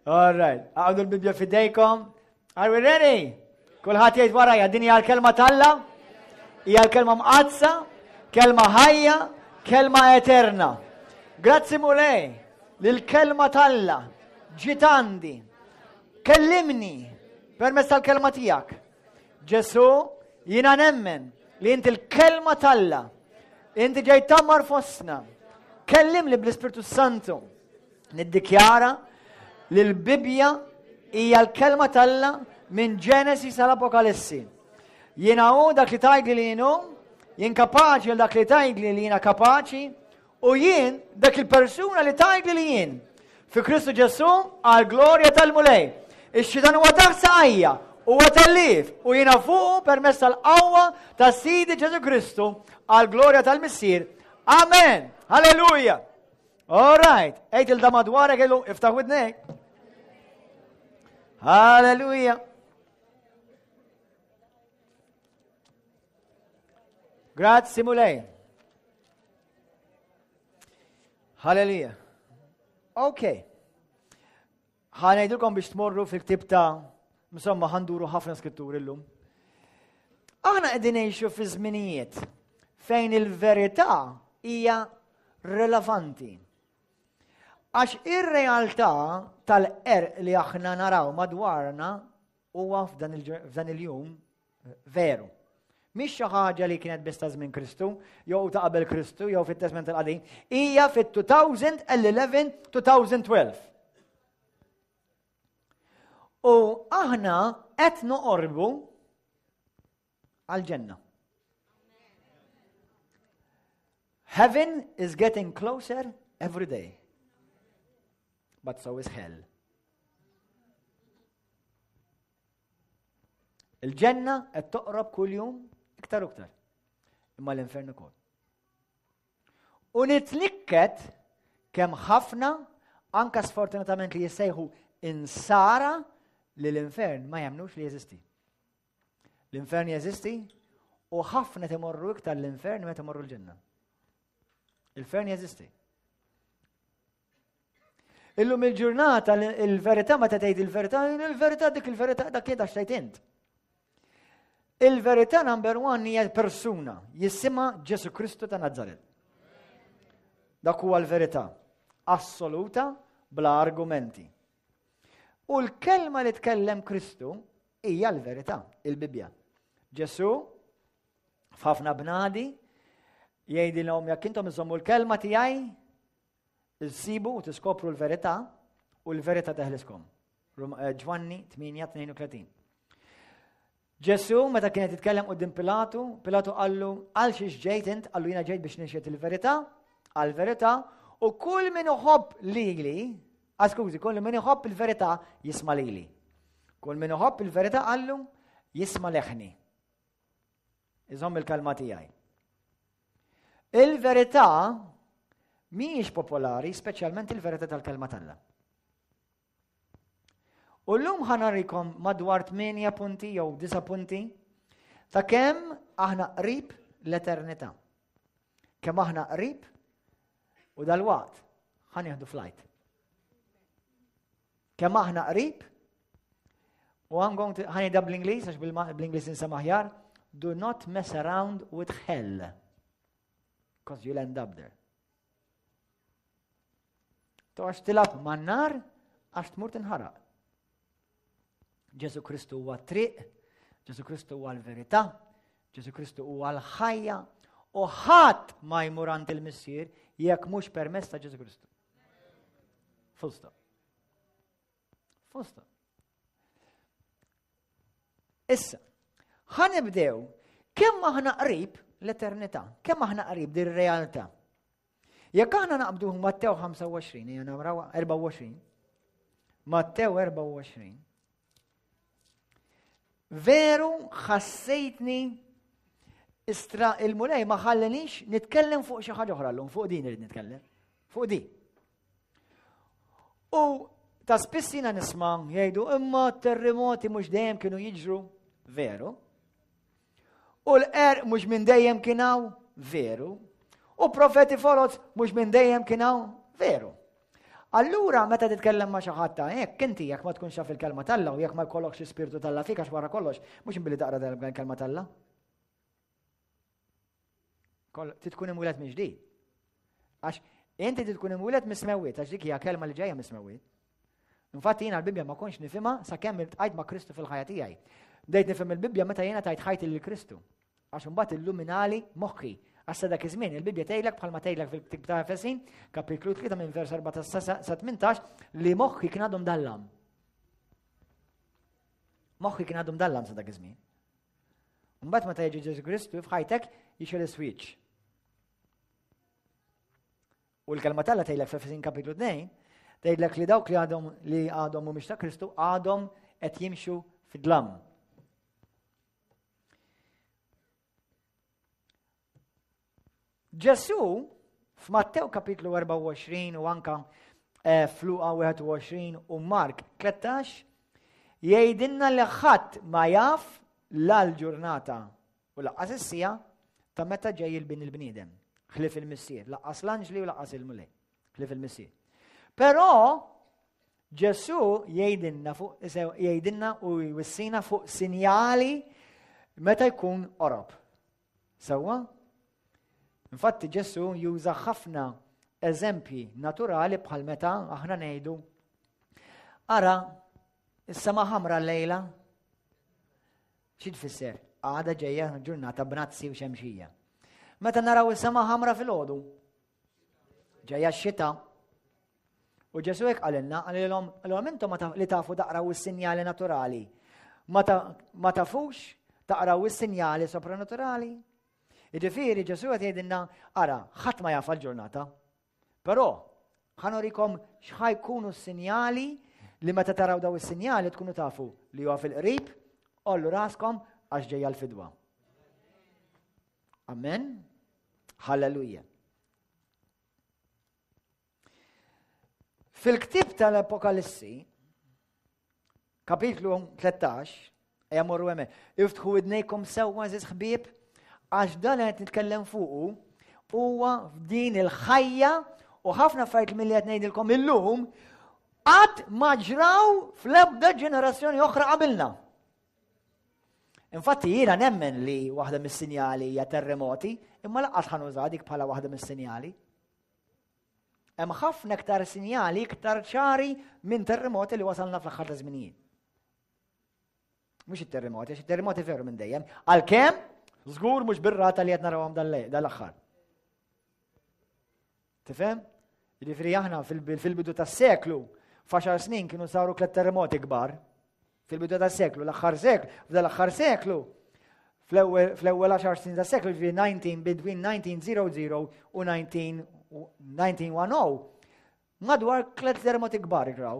All right, għadu l-Bibja fidejkom. Are we ready? Kulħadd jgħid warajja, din hija l-kelma t'Alla, hija l-kelma mqaddsa, kelma ħajja, kelma eterna. Grazzi Mulej li l-kelma t'Alla ġiet għandi. Kellimni permezz tal-kelma tiegħek. Ġesu, jiena nemmen li inti l-kelma t'Alla. Inti ġejt tammar fostna. Kellimni bl-Ispirtu Santu. Niddikjara li l-Bibbja hija l-kelma t'Alla minn Ġenesi sal-Apokalissi. Jiena hu dak li tgħidli li jien hu, jien kapaċi għal dak li tgħidli li jiena kapaċi, u jien dak il-persuna li tgħidli li jien. Fi Kristu Ġesù għal glorja tal-Mulej. Ix-xitan huwa taħt saqajja, huwa tellif u jiena fuqu permezz tal-qawwa ta' Sidi Ġesù Kristu għal glorja tal-Missier. Amen. Halleluja. All right, għid il da madwarek illu, iftaħ widnek. Halleluja. Grazzi Mulej. Halleluja. Ok. Ħanejdilkom biex tmorru fil-ktib ta' insomma ħanduru ħafna skritturi llum. Aħna qegħdin ngħixu fi żminijiet fejn il-verità hija relevanti. Għax ir-realtà tal-qerq li aħna naraw madwarna huwa f'dan il-jum veru. Mhix xi ħaġa li kienet biss ta' żmien Kristu, jew ta' qabel Kristu, jew fit-Testment il-Qadim, hija fit-2011-2012. U aħna qed noqorbu għal-ġenna. Heaven is getting closer every day. But so is hell. Il-ġenna qed toqrob kuljum iktar u iktar. Imma l-infern ukoll. U nitnikket kemm ħafna anka sfortunatament li jissejħu insara li l-infern ma jemnux li jeżisti. L-infern jeżisti u ħafna timorru iktar l-infern meta timorru l-ġenna. Il-infern jeżisti. Illum il-ġurnata il-verità meta tgħid il-verità, il-verità dik il-verità dak kien tgħid int. Il-verità number one hija persuna jisimha Ġesu Kristu ta' Nazaret. Dak huwa l-verità assoluta bla argumenti. U l-kelma li tkellem Kristu hija l-verità, il-Bibbja. Ġesu f'ħafna bnadi jgħidilhom jekk intom iżommu l-kelma tiegħi Issibu u tiskopru l-verità u l-verità teħliskom. Eh, Ġwanni 8:32. Ġesu meta kienet jitkellem qudiem Pilatu, Pilatu qallu għal xiex ġejt int, qallu jiena ġejt biex nixhed il-verità, għal-verità, u kull min iħobb lili, ah, skużi, kull min iħobb il-verità jisma' lili. Kull min iħobb il-verità qallu jisma' leħni. Iżomm il-kelma tiegħi. Il-verità mhijiex popolari, speċjalment il-verità tal-kelma t'Alla. U llum ħanarikom madwar 8 punti jew 9 punti ta' kemm aħna qrib l-eternità. Kemm aħna qrib u dal-waqt ħanieħdu flight. Kemm aħna qrib, u I'm going to, ħanida bl-Ingliż, għax bl-Ingliż insema aħjar, do not mess around with hell, because you'll end up there. Toqgħodx tilab man-nar għax tmur tinħaraq. Ġesu Kristu huwa triq, Ġesu Kristu huwa l-verità, Ġesu Kristu huwa l-ħajja u ħadd ma jmur għand il-Missier jekk mhux permezz ta' Ġesu Kristu. Full stop. Full stop. Issa, ħanibdew kemm aħna qrib l-eternità, kemm aħna qrib dir realtà. Jekk aħna naqbdu Mattew 25, hija naraw 24, Mattew 24, veru ħassejtni istra il-mulej ma ħallinix nitkellem fuq xi ħaġa oħra llum, fuq din irid nitkellem, fuq din. U ta' spiss jiena nisma' jgħidu imma terremoti mhux dejjem kienu jiġru veru. U l-qerq mhux minn dejjem kien hawn veru. U profeti foloz mhux minn dejjem kien hawn veru. Allura meta titkellem ma' xi ħadd ta' hekk, inti jekk ma tkunx taf il-kelma t'Alla u jekk ma jkollokx l-ispirtu t'Alla fik għax wara kollox, mhux billi taqra l-kelma t'Alla. Trid tkun imwieled minn ġdid. Għax inti trid tkun imwieled mis-smewwiet, għax dik hija kelma li ġejja mis-smewwiet. Infatti jiena l-Bibbja ma kontx nifhimha sakemm iltqajt ma' Kristu fil-ħajja tiegħi. Bdejt nifhem il-Bibbja meta jiena tajt ħajti lil Kristu. Għax imbagħad illuminali moħħi. Għax sa dak iż-żmien il-Bibbja tgħidlek bħalma tgħidlek fil-ktieb ta' Efesin, kapitlu 3 minn vers 4 sa 18 li moħħi kien għadu mdallam. Moħħi kien għadu mdallam sa dak iż-żmien. Mbagħad meta jiġi Ġesu Kristu f'ħajtek jixel is-switch. U l-kelma t'Alla tgħidlek f'Efesin kapitlu 2, tgħidlek li dawk li għadhom li għadhom mhumiex ta' Kristu għadhom qed jimxu fid-dlam. Ġesu f'Mattew kapitlu 24 u anka eh, f'Luqa 21 u Mark 13 jgħidilna li ħadd ma jaf la l-ġurnata u laqqas is-sija ta' meta ġej il-bin il-bniedem. Ħlif il-missier, laqqas l-anġli u laqqas il-mulej. Ħlief il-Missier. Però Ġesù jgħidilna fuq jgħidilna u jwissina fuq sinjali meta jkun qorob. Sewwa? Infatti Ġesù juża ħafna eżempji naturali bħal meta aħna ngħidu ara is-sema ħamra llejla xi tfisser? Għada ġejja ġurnata b'nazzi u xemxija. Meta naraw is-sema ħamra fil-ħodu, Ġejja x-xita. U Ġesu hekk qalilna, qalilhom, qalilhom intom li tafu taqraw is-sinjali naturali. Ma tafux taqraw is-sinjali sopranaturali. Jiġifieri Ġesu qed jgħidilna, ara, ħadd ma jaf ġurnata. Però ħanorikom x'ħajkunu s-sinjali li meta taraw daw is-sinjali tkunu tafu li huwa fil-qrib, ollu raskom għax ġejja l-fidwa. Amen. Halleluja. Fil-ktib tal-Apokalissi, kapitlu 13, ejja morru hemmhekk, iftħu idnejkom sewwa żiż ħbieb, għax dan qed nitkellem fuqu huwa f'din il-ħajja u ħafna affarijiet milli qed ngħidilkom illum qatt ma ġraw fl-ebda ġenerazzjoni oħra qabilna. Infatti jiena nemmen li waħda mis-sinjali hija terremoti, imma laqqas ħanuża dik bħala waħda mis-sinjali. Hemm ħafna iktar sinjali iktar ċari minn terremoti li wasalna fl-aħħar ta' żminijiet. Mhux it-terremoti, għax it-terremoti veru minn dejjem. Għalkemm żgur mhux bir-rata li qed narawhom dal-aħħar. Tifhem? Jiġifieri aħna fil-bidu tas-seklu, f'għaxar snin kienu saru tliet terremoti kbar. Fil-bidu tas-seklu, l-aħħar seklu, f'dal-aħħar seklu, fl-ewwel għaxar snin tas-seklu, ġifieri 19 between 1900 u 1910, madwar tliet terremoti kbar igraw.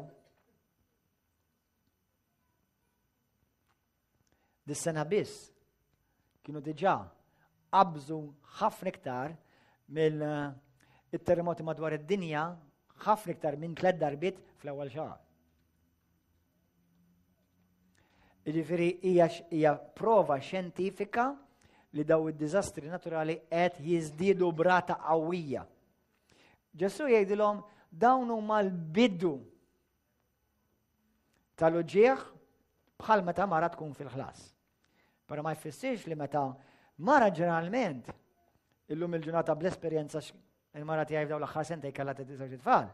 Dis-sena biss kienu diġà qabżu ħafna iktar mill-terremoti madwar id-dinja ħafna iktar minn tliet darbiet fl-ewwel xahar. Jiġifieri hija hija prova xjentifika li daw id-diżastri naturali qed jiżdiedu brata qawwija. Ġesu jgħidilhom dawn huma l-bidu tal-uġigħ bħal meta mara tkun fil-ħlas. Però ma jfissirx li meta mara ġeneralment illum il-ġurnata bl-esperjenza il-mara tiegħi f'dawn l-aħħar sentej kellha żewġ tfal.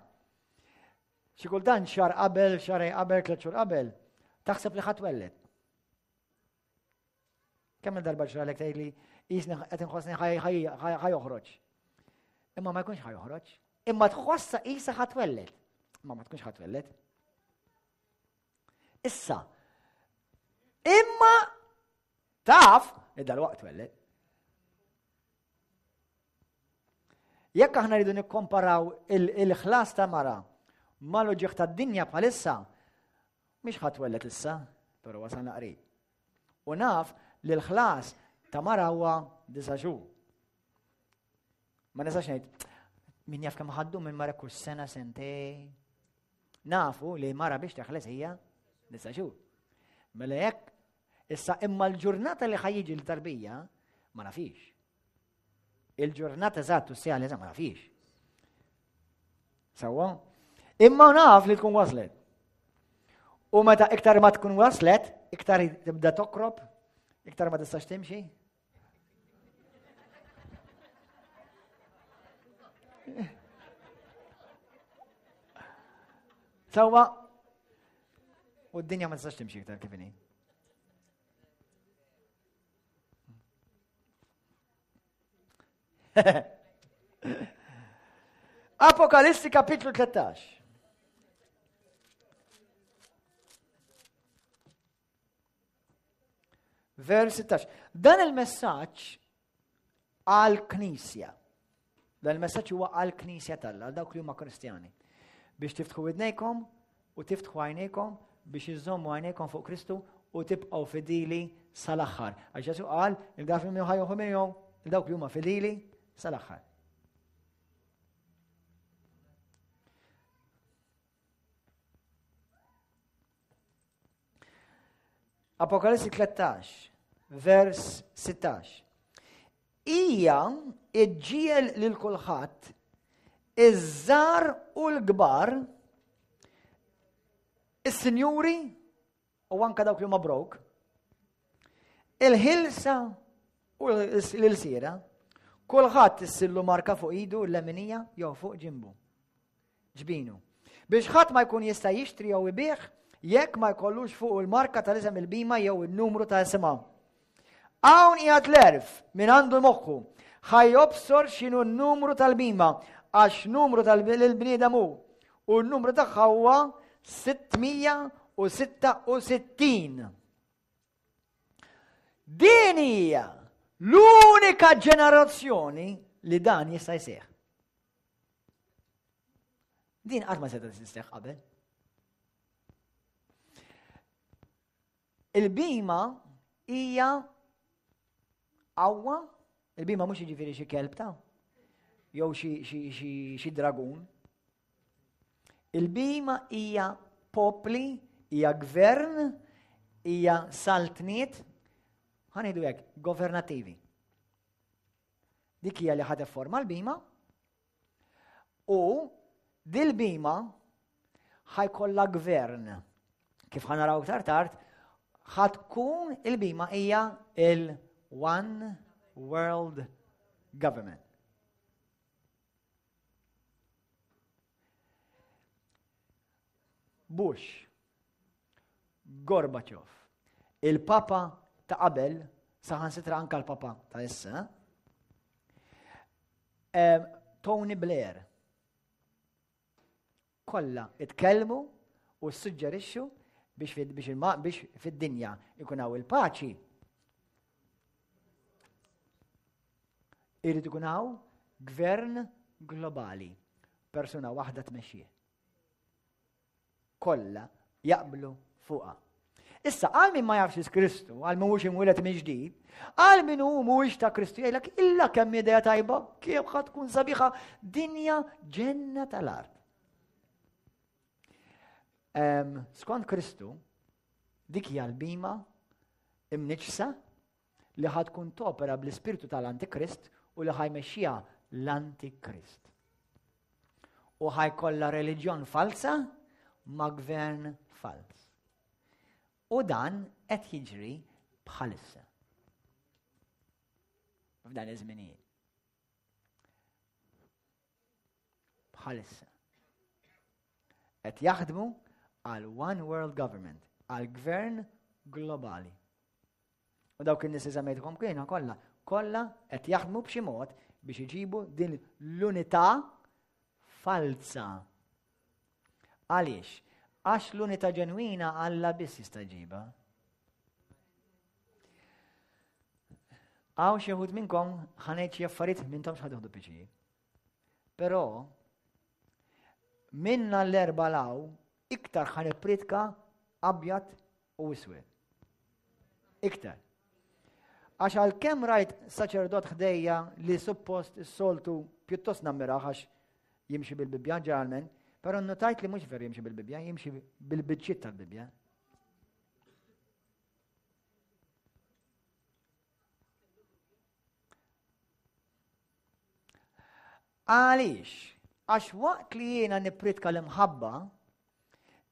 Xi kultant xahar qabel, xahar qabel, tliet xhur qabel, taħseb li ħadd welled. Kemm il-darba ġralek tgħidli jisni qed inħossni ħajoħroġ. Imma ma jkunx ħajoħroġ. Imma tħossa qisha ħatwelled. Imma ma tkunx ħatwelled. Issa, imma taf li dal-waqt twelled. Jekk aħna rridu nikkomparaw il-ħlas ta' mara mal-uġieħ tad-dinja bħalissa, mhix ħadd wellet issa, però wasalna qrib. U naf li l-ħlas ta' mara huwa disa' xhur. Ma nistax ngħid min jaf kemm ħaddu minn mara kull sena sentej. Nafu li mara biex teħles hija disa' xhur. Mela jekk issa imma l-ġurnata li ħajjiġi l-tarbija ma nafix. Il-ġurnata eżatt u s-sija li ma nafix. Sewwa? Imma naf li tkun waslet. U meta iktar ma tkun waslet, iktar tibda tokrob, iktar ma tistax timxi. Sawa, u d-dinja ma tistax timxi iktar kif inhi. Apokalissi kapitlu 13. Vers 16. Dan il-messaġġ għal-Knisja. Dan il-messaġġ huwa għal-Knisja tal għal dawk li huma Kristjani. Biex tiftħu widnejkom u tiftħu għajnejkom biex iżommu għajnejkom fuq Kristu u tibqgħu fidili sal-aħħar. Għax Ġesu qal, il-daf li ħajjuħu minnhom, dawk li huma fidili sal-aħħar. Apokalissi 13, vers 16. Hija iġġiel lil kulħadd iż-żgħar u l-kbar, is-sinjuri u anka dawk li huma broke, il-ħilsa u l-ilsiera, kulħadd issillu marka fuq idu l-leminija jew fuq ġimbu. Ġbinu. Biex ħadd ma jkun jista' jixtri jew ibigħ jekk ma jkollux fuq il-marka tal-isem il-bima jew in-numru ta' isimha. Hawn qiegħed l-għerf min għandu moħħu. Ħa jobsor x'inhu n-numru tal-bima għax numru tal-bniedem hu. U n-numru tagħha huwa 666. Din hija l-unika ġenerazzjoni li dan jista' jseħħ. Din qatt ma seta' tisseħ qabel. Il-bima hija qawwa, il-bima mhux jiġifieri xi kelb ta' jew xi dragun. Il-bima hija popli, hija gvern, hija saltniet, ħanidu hekk, governattivi. Dik hija li ħa forma l-bima u dil-bima ħajkollha gvern. Kif ħanaraw iktar tard, ħatkun il-bima hija il-One World Government. Bush, Gorbachev, il-Papa ta' qabel, saħansitra anka l-Papa ta' issa, Tony Blair, kollha itkellmu u ssuġġerixxu biex biex fid-dinja ikun hawn il-paċi. Irid ikun hawn gvern globali, persuna waħda tmexxih. Kollha jaqblu fuqha. Issa, għal min ma jafx Kristu, għal min mhux imwieled minn ġdid, għal min hu mhuwiex ta' Kristu jgħidlek illa kemm idea tajba, kif ħa tkun sabiħa dinja ġenna tal-art. Skont Kristu, dik hija l-bima imniġsa li ħa tkun topera bl-ispirtu tal-Antikrist u li ħajmexxiha l-Antikrist. U ħajkollha reliġjon falsa ma' gvern fals. U dan qed jiġri bħalissa. F'dan iż-żminijiet. Bħalissa. Qed jaħdmu għal One World Government, għal gvern globali. U dawk in-nies li semmejtkom kienu kollha, kollha qed jaħdmu b'xi mod biex iġibu din l-unità falza. Għaliex? Għax l-unità ġenwina Alla biss jista' jġibha. Għaw xi wħud minnkom ħanejt xi affarijiet minnhom x'ħad piċi. Però minna l-erba law iktar ħan ippritka abjad u iswed. Iktar. Għax għalkemm rajt saċerdot ħdejja li suppost is-soltu pjuttost nammiraħ għax jimxi bil-Bibbja ġeneralment, però notajt li mhux veru jimxi bil-Bibbja, jimxi bil-biċċiet tal-Bibbja. Għaliex? Għax waqt li jiena nippritka l-imħabba,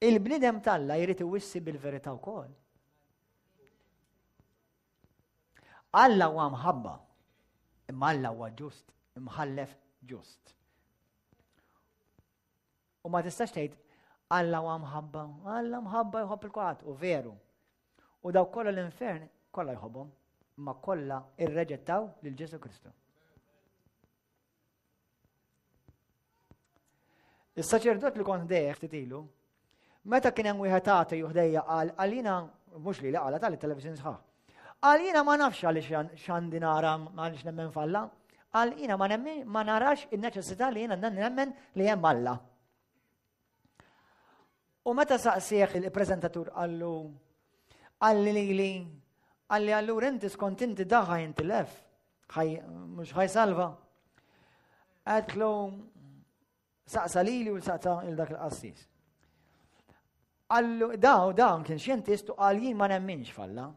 il-bniedem t'Alla jrid iwissi bil-verità wkoll. Alla huwa mħabba, imma Alla huwa ġust, imħallef ġust. U ma tistax tgħid Alla huwa mħabba, Alla mħabba jħobb il-kulħadd, u veru. U dawk kollha l-infern kollha jħobbhom, imma kollha irreġettaw lil Ġesu Kristu. Is-saċerdot li kont dejja ftit ilu, meta kien hemm wieħed għati juħdejja qal għalina mhux li li qala tal-television sħaħ. Qal jiena ma nafx għaliex x'għandi nara għaliex nemmen falla. Qal jiena ma nemmen ma narax in-neċessità li jiena nemmen li hemm Alla. U meta saqsieħ il-preżentatur qallu qalli lili qalli allura inti skont inti daħa jintilef mhux ħajsalva. Għedtlu saqsa lili u saqsa il dak il-qassis. Qallu daw dawn kien xjentist u qal jien ma nemminx falla.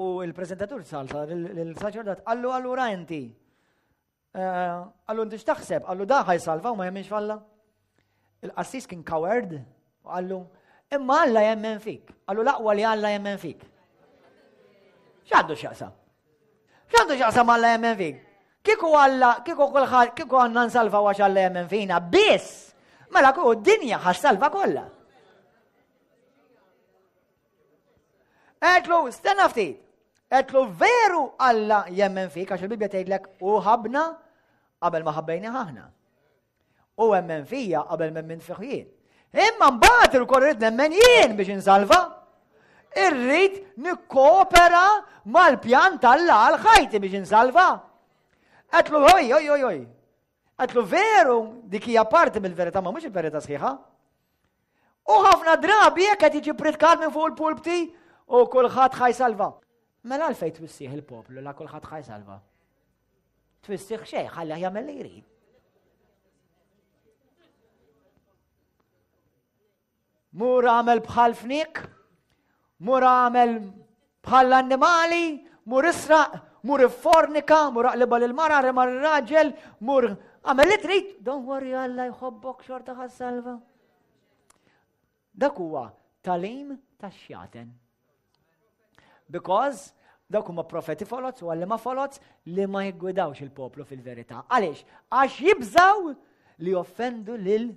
U il-prezentatur salta l-saċerdot qallu allura inti Eh, qallu inti x'taħseb? Qallu da ħajsalva u ma jemminx falla. Il-qassis kien coward u qallu imma Alla jemmen fik. Qallu l-aqwa li Alla jemmen fik. X'għandu x'jaqsam? X'għandu x'jaqsam Alla jemmen fik? Kieku Alla, kieku kulħadd, kieku għandna nsalva għax Alla jemmen fina, biss! Mela kieku d-dinja ħassalva kollha. Għedlu, stenna ftit. Għedlu veru Alla jemmen fik, għax il-Bibja tgħidlek u ħabna qabel ma ħabbejni aħna. U emmen fija qabel ma emmen fih jien. Imma mbagħad irkoll irrid nemmen jien biex insalva. Irrid nikkoopera mal-pjan tal-la għal ħajti biex insalva. Għedlu oj, oj, oj, oj. Għedlu veru dik hija parti mill-verità ma mhux il-verità sħiħa. U ħafna drabi jekk qed jiġi pritkat minn fuq il-pulpti u kulħadd ħajsalva. Mela għalfejn twissih il-poplu la kulħadd ħajsalva. Twissih xejn, ħalli jagħmel li jrid. Mur għamel bħal fnik, mur għamel bħal l-annimali, mur israq, mur iffornika, mur aqliba lil-mara, rema r-raġel, mur għamel li trid, don't worry Alla jħobbok xorta ħassalva. Dak huwa talim tax-xjaten. Because dawk huma profeti folots u għallima folots li ma jiggwidawx il-poplu fil-verità. Għaliex? Għax jibżaw li joffendu lil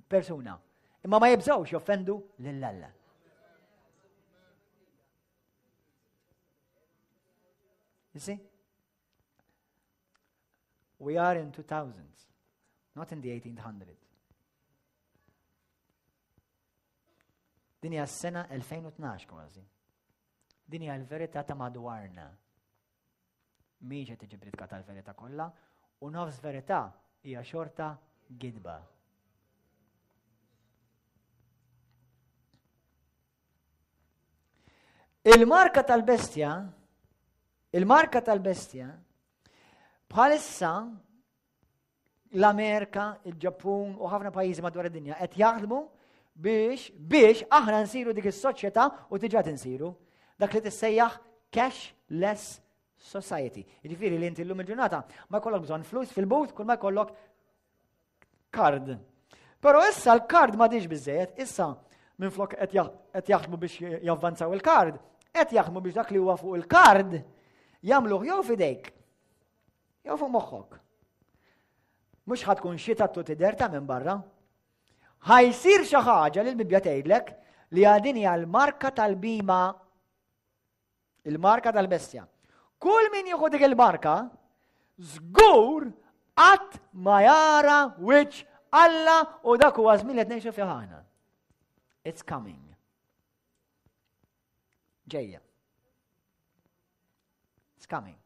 persuna. Imma ma jibżawx joffendu lil Alla. You see? We are in 2000s, not in the 1800s. Din hija s-sena 2012 kważi. Din hija l-verità ta' madwarna. Mhix qed tiġi pritkata l-verità kollha u nofs verità hija xorta gidba. Il-marka tal-bestja, il-marka tal-bestja, bħalissa l-Amerika, il-Ġappun u ħafna pajjiżi madwar id-dinja qed jaħdmu biex biex aħna nsiru dik is-soċjetà u diġà tinsiru dak li tissejjaħ cashless society. Jiġifieri li inti llum il-ġurnata ma jkollok bżonn flus fil-but kull ma jkollok kard. Però issa l-kard ma diġ biżejjed, issa minn flok qed jaħdmu biex javvanzaw il-kard, qed jaħdmu biex dak li huwa fuq il-kard jagħmluh jew fidejk, jew fuq moħħok. Mhux ħad tkun xita tu tidher ta' minn barra. Ħajsir xi ħaġa li l-Bibbja tgħidlek li għadin hija l-marka tal-bima Il-marka tal-bestja. Kull min jieħu dik il-marka, żgur qatt ma jara wiċċ Alla u dak huwa żmien li qed ngħixu fih aħna. It's coming. Ġejja. It's coming.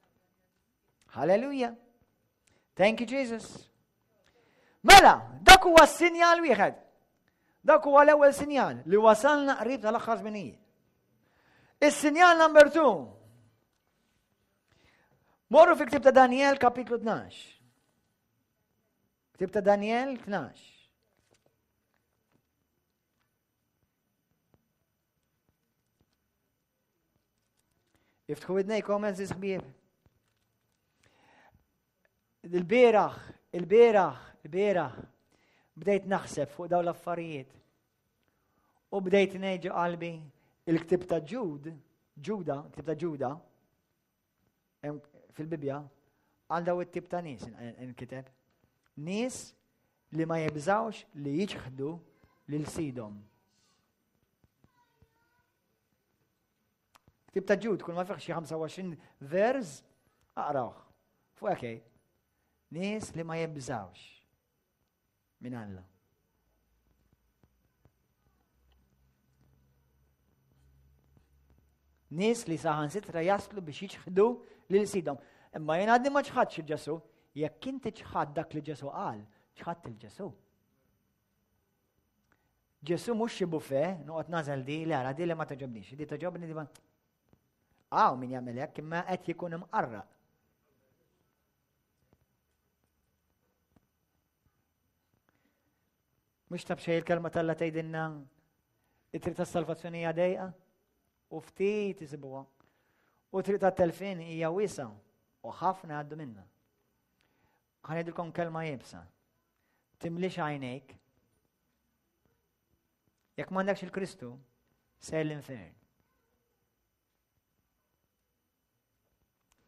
Hallelujah. Thank you, Jesus. Mela, dak huwa s-sinjal wieħed. Dak huwa l-ewwel sinjal li wasalna qrib tal-aħħar żminijiet. Is-sinjal number 2. Morru fi ktib ta' Daniel kapitlu 12. Ktib ta' Daniel 12. Iftħu idnejkom għeżież ħbieb. Il-bieraħ, il-bieraħ, Il-bieraħ bdejt naħseb fuq dawn l-affarijiet. U bdejt ngħid qalbi il-ktib ta' Ġud, Ġuda, ktib ta' Ġuda, fil-Bibbja, għal daw it-tip ta' nies inkiteb. Nies li ma jibżawx li jiċħdu lil sidhom. Ktib ta' Ġud, kull ma fih xi 25 vers, aqrawh. Fuq hekk Nies li ma jibżawx minn Alla. Nies li saħansitra jaslu biex jiċħdu lil sidhom. Imma jien għadni ma ċħadx il-Ġesu. Jekk inti ċħad dak li Ġesu qal, ċħadd il-Ġesu. Ġesu mhux xi buffet, noqgħod nażel di, li ara di li ma toġobnix, di toġobni di ma. Aw min jagħmel hekk imma qed jkun imqarraq. Mhux ta' b'xejn il-kelma t'Alla tgħidilna it-triq tas-salvazzjoni hija dejqa u ftit isibuha. U triq tat-telfien hija wiesa u ħafna għaddu minna. Ħa ngħidilkom kelma iebsa. Timlix għajnejk. Jekk m'għandekx il-Kristu, ser l-infern.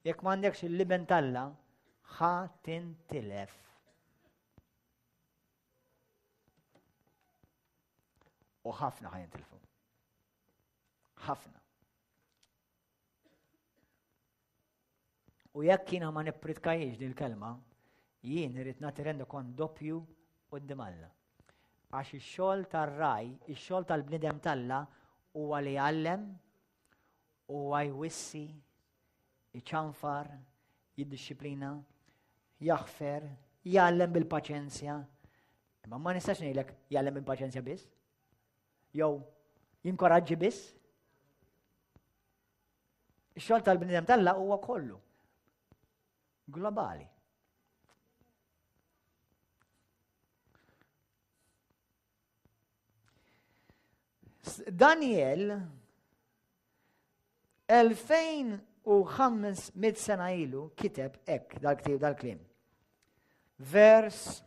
Jekk m'għandekx il-liben t'Alla, ħa tintilef. U ħafna ħa jintilfu. Ħafna. U jekk jiena ma nippritkajiex din il-kelma, jien irrid nagħti rendikont doppju quddiem Alla. Għax ix-xogħol tar-raj, ix-xogħol tal-bniedem t'Alla huwa li jgħallem, huwa jwissi, iċanfar, jiddixxiplina, jaħfer, jgħallem bil-paċenzja. Imma ma nistax ngħidlek jgħallem bil-paċenzja biss. Jew jinkoraġġi biss. Ix-xogħol tal-bniedem t'Alla huwa kollu globali. Daniel 2500 sena ilu kiteb hekk dal-ktib dal-kliem. Vers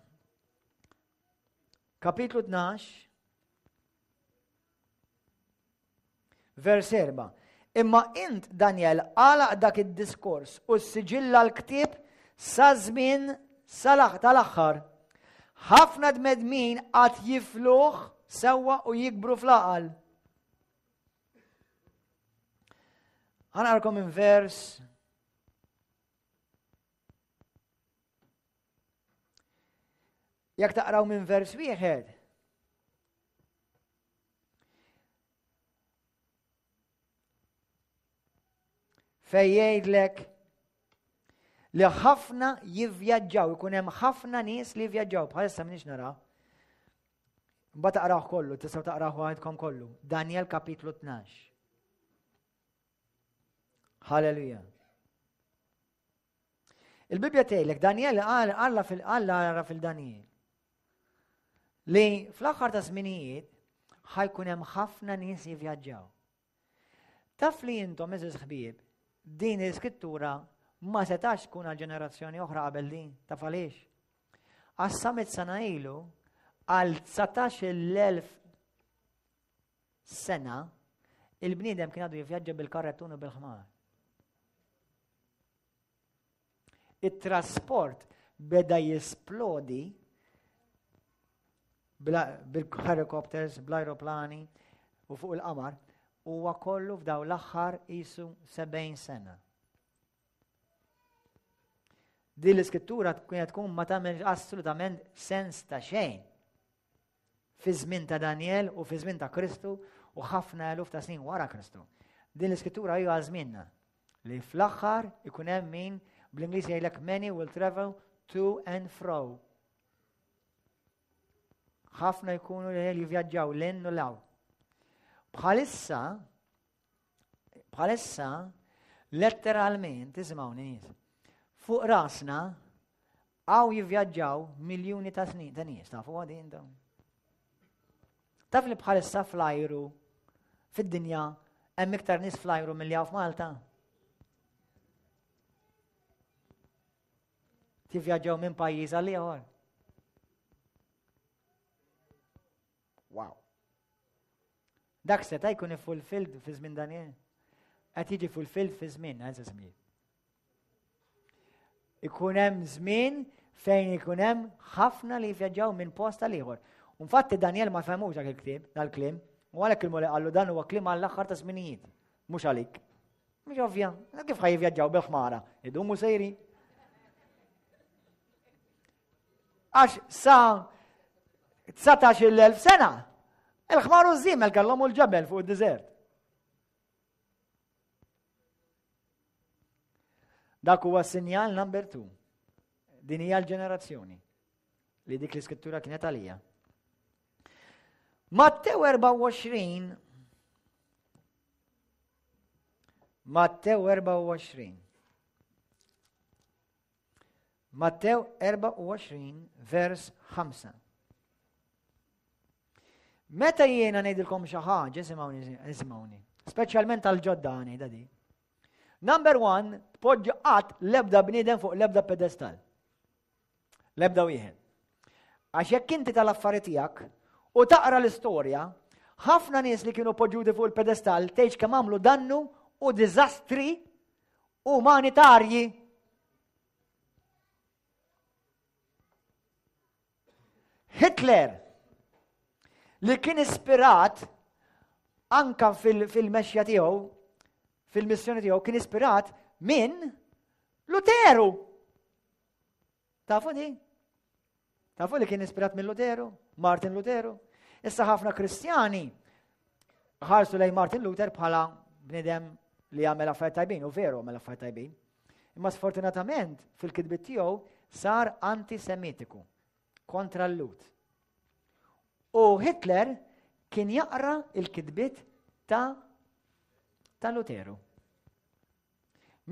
kapitlu 12 Vers 4. Imma int, Danjel, għalaq dak id-diskors u ssiġilla l-ktieb sa żmien tal-aħħar. Ħafna dmedmin għad jifluh sewwa u jikbru fl-għaqal. Ħanarkom minn vers Jekk taqraw minn vers wieħed, Fej jgħidlek li ħafna jivvjaġġaw, ikun hemm ħafna nies li jivvjaġġaw, bħalissa m'iniex nara. Mbagħad taqrawh kollu, tistgħu taqrawh waħedkom kollu. Daniel kapitlu 12. Halleluja. Il-Bibbja tgħidlek Daniel qal Alla fil-Alla ara fil-Daniel. Li fl-aħħar ta' żminijiet ħajkun hemm ħafna nies jivvjaġġaw. Taf li intom eżiż ħbieb, din l-iskrittura ma setax tkun għal ġenerazzjoni oħra qabel din, taf għaliex? Għas samit sena ilu għal 19,000 sena il-bniedem kien għadu jivvjaġġa bil-karrettun u bil-ħmar. It-trasport beda jisplodi bil-helicopters, bl-aeroplani u fuq il-qamar huwa kollu f'daw l-aħħar isu 70 sena. Din l-iskrittura kienet tkun ma tagħmel assolutament sens ta' xejn. Fi żmien ta' Daniel u fi żmien ta' Kristu u ħafna eluf ta' snin wara Kristu. Din l-iskrittura hija żmienna li fl-aħħar ikun hemm min bl-Ingliż jgħidlek many will travel to and fro. Ħafna jkunu li jivvjaġġaw l u law. Bħalissa, bħalissa, letteralment, isimgħuni nies, fuq rasna Hawn jivvjaġġaw miljuni ta' snin ta' nies, tafu għadi intom. Taf li bħalissa fl-ajru fid-dinja hemm iktar nies fl-ajru milli hawn f'Malta. Tivvjaġġaw minn pajjiż għal ieħor. Dak seta' jkun fulfilled fi żmien Daniel. Qed jiġi fulfilled fi żmien, għazza żmien. Ikun hemm żmien fejn ikun hemm ħafna li jivvjaġġaw minn post għal ieħor. Infatti Daniel ma fehmux dak il-ktieb, dal-kliem, u għalhekk il-Mulej qallu dan huwa kliem għall-aħħar ta' żminijiet, mhux għalik. Mhux ovvja, kif ħaj jivvjaġġaw bil-ħmara, idumu sejri. Għax sa 19,000 sena, il-ħmar u żiemel kellhom u l-ġebel fuq id-deżert. Dak huwa sinjal number two. Din hija l-ġenerazzjoni li dik l-iskrittura kienet għalija. Mattew 24 Mattew 24 Mattew 24 vers 5 Meta jiena ngħidilkom xi ħaġa, isimgħuni, isimgħuni. Speċjalment għal-ġodda ngħidha di. Number one, tpoġġi qatt l-ebda bniedem fuq l-ebda pedestal. L-ebda wieħed. Għax jekk inti tal-affari tiegħek u taqra l-istorja, ħafna nies li kienu poġġuti fuq il-pedestal tgħidx kemm għamlu dannu u diżastri umanitarji. Hitler li kien ispirat anka fil-mexja tiegħu, fil-missjoni tiegħu kien ispirat minn Luteru. Tafu di? Tafu li kien ispirat minn Luteru? Martin Luteru? Issa ħafna Kristjani ħarsu lejn Martin Luther bħala bnidem li għamel affarijiet tajbin, u veru għamel affarijiet tajbin. Imma sfortunatament fil-kitbiet tiegħu sar antisemitiku kontra l-Lut. U Hitler kien jaqra il-kitbiet ta' ta' Luteru.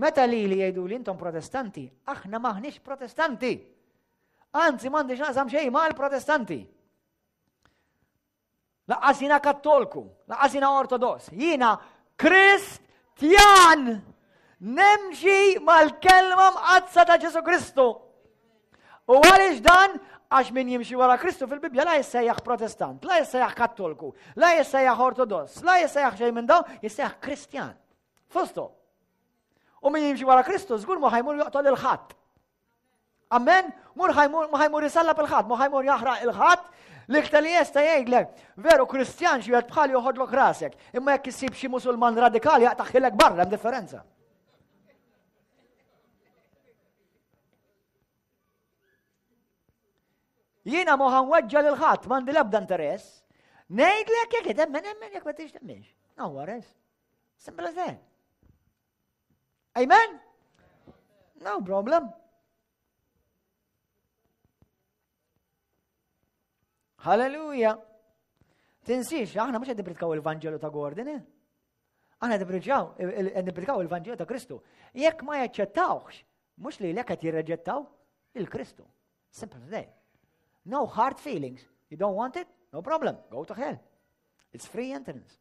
Meta li li jgħidu li intom protestanti, aħna maħniex protestanti. Anzi, m'għandix naqsam xejn mal-protestanti. Laqqas jiena kattolku, laqqas jiena ortodoss, jiena Kristjan! Nemxi mal-kelma mqaddsa ta' Ġesu Kristu. U għaliex dan? Għax min jimxi wara Kristu fil-Bibja la jissejjaħ protestant, la jissejjaħ kattolku, la jissejjaħ ortodoss, la jissejjaħ xejn minn dawn, jissejjaħ Kristjan. Fusto. U min jimxi wara Kristu żgur ma ħajmur joqtol il-ħadd. Amen? Mur ħajmur, ma ħajmur isallab il-ħadd, ma ħajmur jaħraq il-ħadd, l-iktar li jesta jgħidlek, veru Kristjan xi wieħed bħal joħodlok rasek, imma jekk issib xi Musulman radikali jaqtaħilek barra hemm differenza. Jiena ma ħanweġġa lil ħadd, m'għandi l-ebda interess. Ngħidlek jekk temmen emmen jekk ma tix temmenx. No worries. Simple as that. Amen? No problem. Halleluja. Tinsiex, aħna mhux qed nipritkaw il-Vanġelu ta' Gordon, eh? Aħna qed nipritkaw il-Vanġelu ta' Kristu. Jekk ma jaċċettawx, mhux li lek qed jirreġettaw il-Kristu. Simple as that. No hard feelings. You don't want it? No problem. Go to hell. It's free entrance.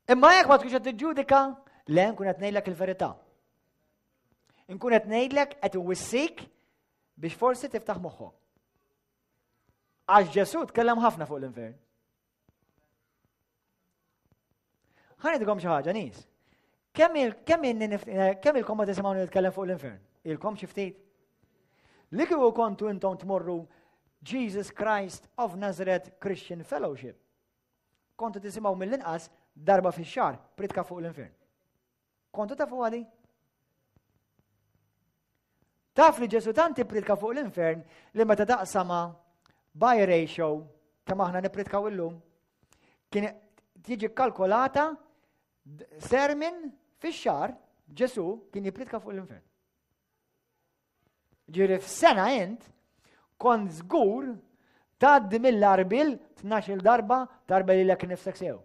Imma jekk ma tkunx qed tiġġudika, le nkun qed ngħidlek il-verità. Nkun qed ngħidlek qed iwissik biex forsi tiftaħ moħħok. Għax Ġesù tkellem ħafna fuq l-infern. Ħa ngħidilkom xi ħaġa nies. Kemm kemm ilkom ma tisimgħu nitkellem fuq l-infern? Ilkom xi ftit? Li kieku kontu intom tmorru Jesus Christ of Nazareth Christian Fellowship. Kontu tisimgħu mill-inqas darba fix-xahar pritka fuq l-infern. Kontu tafu għadi? Taf li Ġesu tant ippritka fuq l-infern li meta taqsama by ratio kemm aħna nippritkaw illum, kien tiġi kalkolata sermin fix-xahar Ġesu kien jippritka fuq l-infern. Ġiri f'sena int kont żgur tgħaddi mill-arbil 12 darba tarba lilek nifsek sew.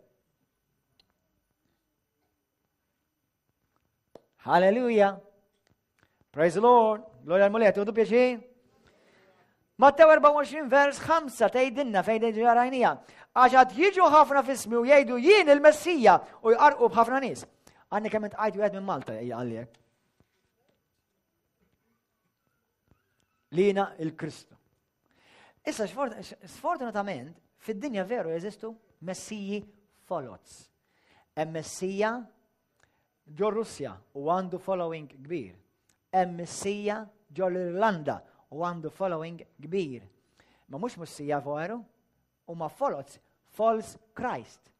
Hallelujah. Praise the Lord. Gloria l-Mulej, tuħdu pjaċir. Mattew 24 vers 5 tgħidilna fejn ġarajnija. Għax għad jiġu ħafna fismi u jgħidu jien il-Messija u jqarqu b'ħafna nies. Għandni kemm intqajt wieħed minn Malta għalli Lina il-Kristu. Issa sfortunatament fid-dinja veru jeżistu messiji folots. Hemm messija ġo Russja u għandu following kbir. Hemm messija ġo l-Irlanda u għandu following kbir. Ma mhux messija veru, huma folots, false Christ.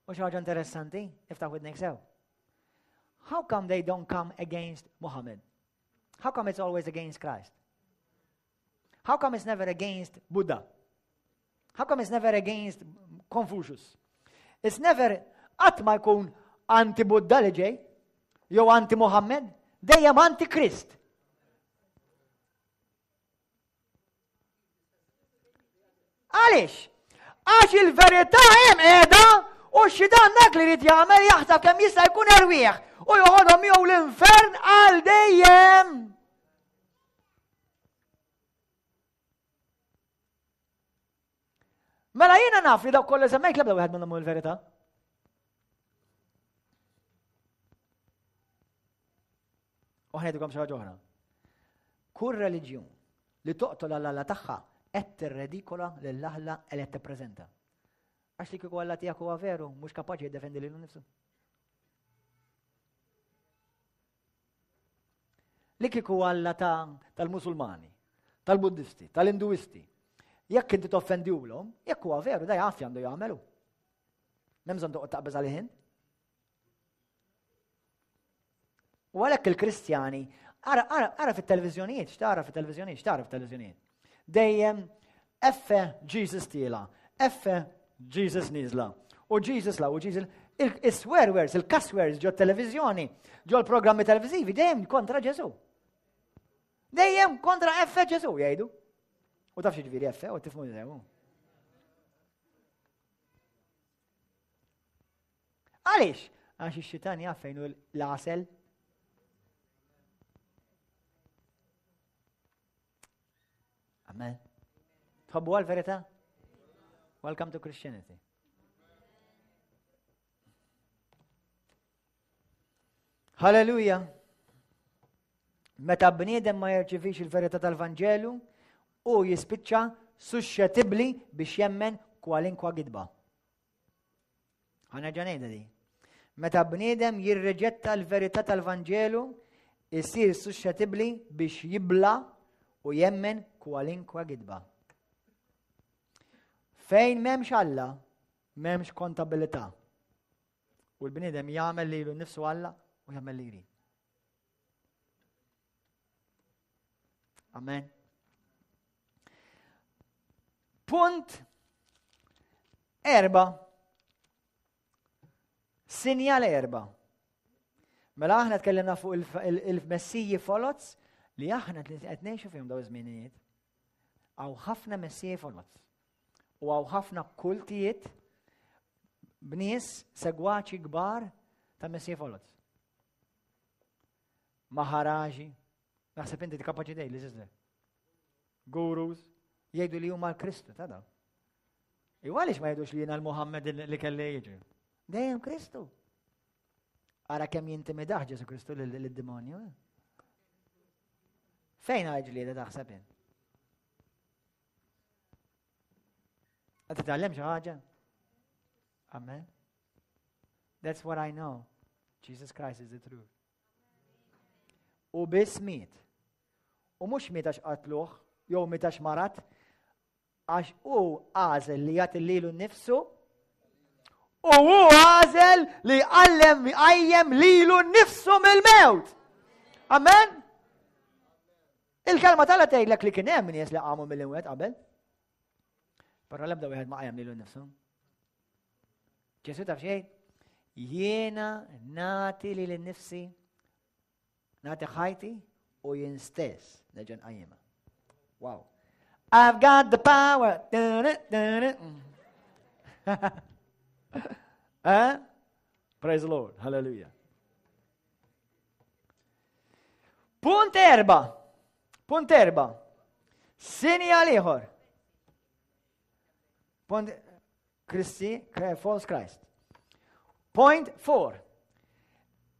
U xi ħaġa interessanti, iftaħ widnek sew. How come they don't come against Muhammad? How come it's always against Christ? How come it's never against Buddha? How come it's never against Confucius? It's never qatt ma jkun anti-Buddha li ġej, jew anti-Muhammad, dejjem anti-Krist. Għaliex? Għax il-verità hemm qiegħda u xidan dak li jrid jagħmel jaħseb kemm jista' jkun erwieħ u joħodhom miegħu l-infern għal dejjem. Mela jiena naf li dawk kollha semmejt l-ebda wieħed minnhom il-verità. U ħnejdukom xi ħaġa oħra. Kull reliġjun li toqtol għal Alla tagħha qed tirredikola lil Alla li qed tippreżenta. Għax li kieku Alla tiegħek huwa veru, mhux kapaċi jiddefendi lilu nnifsu. Li kieku Alla tal-Musulmani, tal-Buddisti, tal-Induisti, jekk inti toffendiwlhom, jekk huwa veru, da jaf għandu jagħmelu. M'hemm bżonn toqgħod taqbeż għalih U għalhekk il-Kristjani, ara, ara, ara fit-televiżjonijiet, x'tara fit-televiżjonijiet, x'tara fit-televiżjonijiet. Dejjem F Jesus tiela, F Jesus niżla, u Jesus la, u Jesus il-swear words, il-cuss words ġo televizjoni, ġo l-programmi televizivi, dejjem kontra Ġesu. Dejjem kontra F Ġesu jgħidu. U taf xi ġifieri F, u tifmu Għaliex? Għax ix-xitan jaf fejn hu l-għasel. Amen. Tħobbu għal-verità? Welcome to Christianity. Halleluja. Meta bniedem ma jirċivix il-verità tal-Vanġelu, u jispiċċa suscettibbli biex jemmen kwalinkwa gidba. Ħa nerġa' ngħidha di. Meta bniedem jirriġetta l-verità tal-Vanġelu, isir suscettibbli biex jibla u jemmen kwalinkwa gidba. Fejn m'hemmx Alla, m'hemmx kontabilità. U l-bniedem jagħmel lilu nnifsu Alla u jagħmel li jrid. Amen. Punt erba. Sinjal erba. Mela aħna tkellimna fuq il-messiji folots li aħna qed ngħixu fihom daw iż-żminijiet. Hawn ħafna messiji folots. U hawn ħafna kultijiet b'nies segwaċi kbar ta' messiji folots. Maharaji, naħseb inti kapaċi dej li sister. Gurus, jgħidu li huma l-Kristu ta' dawn. Iwa għaliex ma jgħidux li jiena l-Muhammed li kelli jiġri? Dejjem Kristu. Ara kemm jintimidaħ Ġesu Kristu lid-demonju. Eh? Fejn għal ġlieda taħseb int? Qed titgħallem xi ħaġa? Amen. That's what I know. Jesus Christ is the truth. U biss miet. U mhux miet għax qatluh, jew miet għax marat, għax hu għażel li jagħti lilu nnifsu u hu għażel li jqallem jqajjem lilu nnifsu mill-mewt. Amen? Il-kelma tagħla tgħidlek li kien hemm nies li qamu mill-imwet qabel. Però l-ebda wieħed ma qajjem lilu nnifsu. Ġesu taf xejn? Jiena nagħti lili nnifsi nagħti ħajti u jien stess nerġa' nqajjimha. Wow. I've got the power. eh? Praise the Lord. Hallelujah. Punt erba. Punt erba. Sinjal ieħor. Punt Kristi, false Christ. Point four.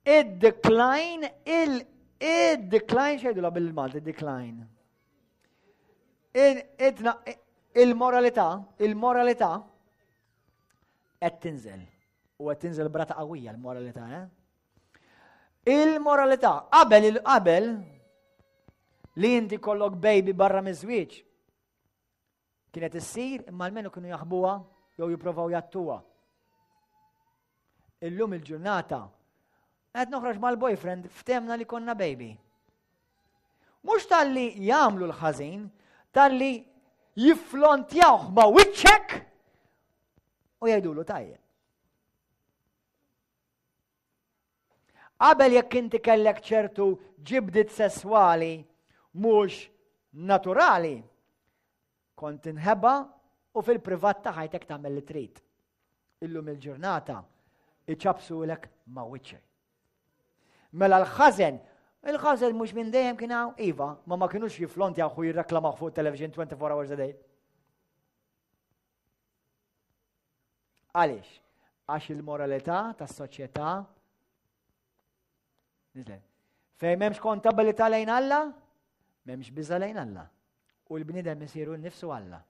Id-decline, il-decline, xejdu la bil-Malti, decline. Il-moralità, il-moralità qed tinżel. U qed tinżel brata qawwija l-moralità, eh? Il-moralità qabel il-qabel li inti kollok baby barra miż-żwieġ Kienet issir imma almenu kienu jaħbuha jew jipprovaw jattuha. Illum il-ġurnata qed noħroġ mal-boyfriend ftemna li konna baby. Mhux talli jagħmlu l-ħażin, talli jifflontjawh ma' wiċċek u jgħidulu tajjeb. Qabel jekk inti kellek ċertu ġibdiet sesswali mhux naturali, kont tinħeba u fil-privat ta' ħajtek tagħmel li trid. Illum il-ġurnata iċabsulek ma' wiċċek. Mela l-ħażen, il-ħażen mhux minn dejjem kien hawn, iva, ma ma kinux jiflontjaw u jirreklamaw fuq television 24 hours a day. Għaliex? Għax il-moralità tas-soċjetà niżlet. Fejn m'hemmx kontabilità lejn Alla, m'hemmx biża' lejn Alla. U l-bniedem isiru nnifsu Alla.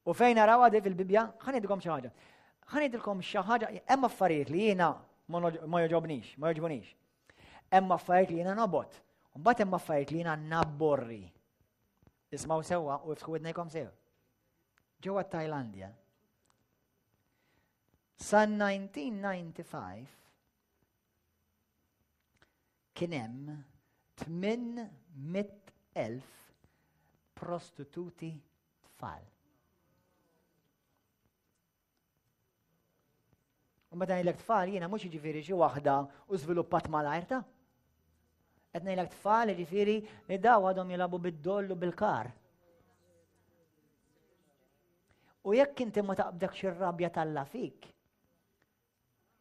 U fejn naraw għadi fil-Bibja, ħa ngħidilkom xi ħaġa. Ħa ngħidilkom xi ħaġa, hemm affarijiet li jiena ma jogħġobnix, ma jogħġbunix. Hemm affarijiet li jiena nobgħod. Mbagħad hemm affarijiet li jiena nabborri. Ismgħu sewwa u iftħu widnejkom sew. Ġewwa Tajlandja. Sa 1995 kien hemm 800,000 prostituti tfal. U meta ngħidlek tfal jiena mhux jiġifieri xi waħda u żviluppat malajr ta'. Qed ngħidlek tfal jiġifieri li daw għadhom jilagħbu bid-doll u bil-kar. U jekk inti ma taqbdekx ir-rabja talla fik,